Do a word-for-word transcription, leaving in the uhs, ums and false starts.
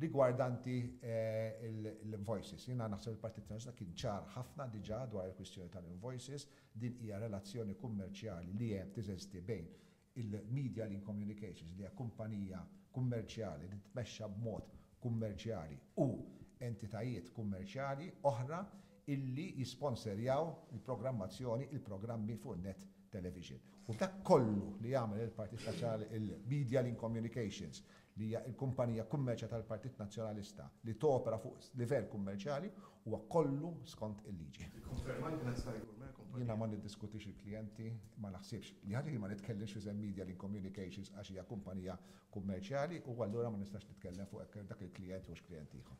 Rigwardanti eh, l-invoices, jiena naħseb il-Partit Nazzjonalista kien ċar ħafna diġà dwar il-kwistjoni tal-invoices. Din hija relazzjoni kummerċjali li hemm, teżisti bejn il-Media Link Communications, li hija kumpanija kummerċjali li tmexxa b'mod kummerċjali, u entitajiet kummerċjali oħra illi jisponserjaw il-programmazzjoni, il-programmi fuq Net Television. U dak kollu li jagħmel il-Partit Nazzjonali, il-Media Link Communications, li hija l-kumpanija kummerċjali tal-Partit Nazzjonalista li topera fuq livell kummerċjali, huwa kollu skont il-liġi. Konferma li kienet Sky Gourmet kumpanija? Jiena ma niddiskutix il-klijenti, ma naħsibx li ħaġa li ma nitkellimx fi Media Link Communications għax hija kumpanija kummerċjali u allura ma nistax nitkellem fuq hekk dak il-klijent u x'klijent ieħor.